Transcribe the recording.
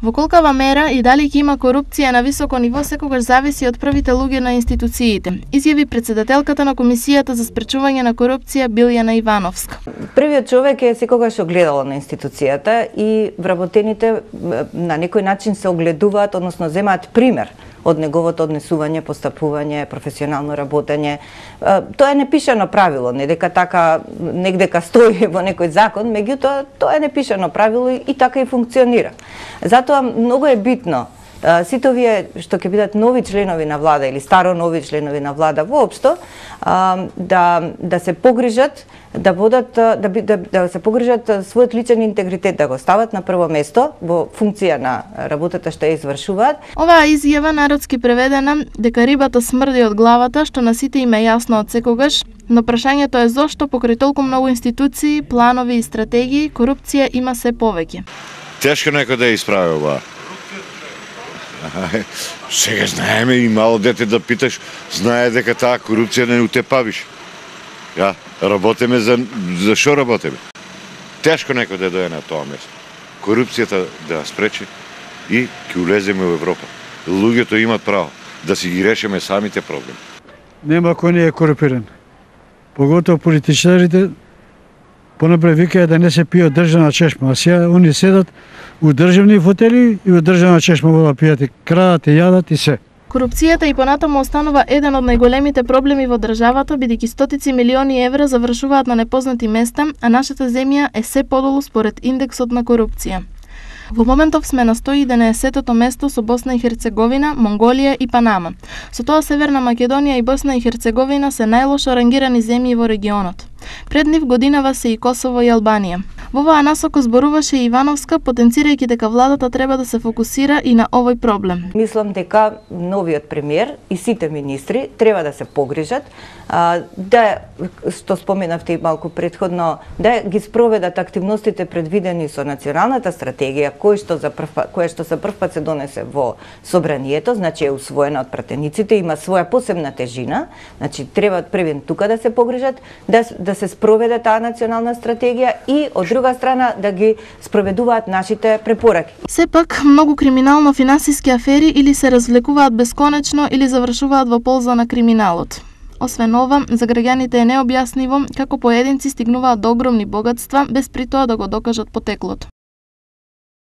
Во колкава мера и дали ќе има корупција на високо ниво секогаш зависи од првите луѓе на институциите, изјави претседателката на Комисијата за спречување на корупција Билјана Ивановска. Првиот човек е секогаш огледало на институцијата и вработените на некој начин се огледуваат, односно земаат пример од неговото однесување, постапување, професионално работење. Тоа е непишано правило, не дека така негдека стои во некој закон, меѓутоа тоа е непишано правило и така и функционира. Затоа многу е битно сите овие што ќе бидат нови членови на влада или старо нови членови на влада воопшто да се погрижат да се погрижат својот личен интегритет да го стават на прво место во функција на работата што ја извршуваат. Оваа изјава народски преведена дека рибата смрди од главата, што на сите им е јасно од секогаш, но прашањето е зошто покрај толку многу институции, планови и стратегии, корупција има се повеќе. Тешко некој да ја исправи оваа. Сега знаеме и мало дете да питаш, знае дека таа корупција не утепавиш. Ja, работиме за што работиме? Тешко некој да дојде на тоа место. Корупцијата да ја спречи и ќе улеземе во Европа. Луѓето имат право да си ги решиме самите проблеми. Нема кој не е корумпиран. Поготово политичарите понапред викаат да не се пие од државна чешма, а сега они седат у државни фотели и у државна чешма во пијат, крадат и јадат и се. Корупцијата и понатаму останува еден од најголемите проблеми во државата, бидејќи стотици милиони евра завршуваат на непознати места, а нашата земја е се подолу според индексот на корупција. Во моментов сме на 111-тото место со Босна и Херцеговина, Монголија и Панама. Со тоа Северна Македонија и Босна и Херцеговина се најлошо рангирани земји во регионот. Пред нив годинава се и Косово и Албанија. Во оваа насока зборуваше Ивановска, потенцирајќи дека владата треба да се фокусира и на овој проблем. Мислам дека новиот премиер и сите министри треба да се погрижат да, што споменавте и малку претходно, да ги спроведат активностите предвидени со националната стратегија, која што за прв пат се донесе во собранието, значи е усвоена од пратениците, има своја посебна тежина, значи треба првен тука да се погрижат, да се спроведе таа национална стратегија и од друга страна да ги спроведуваат нашите препораки. Сепак, многу криминално-финансиски афери или се развлекуваат бесконечно или завршуваат во полза на криминалот. Освен ова, за граѓаните е необјаснливо како поединци стигнуваат до огромни богатства без при тоа да го докажат потеклото.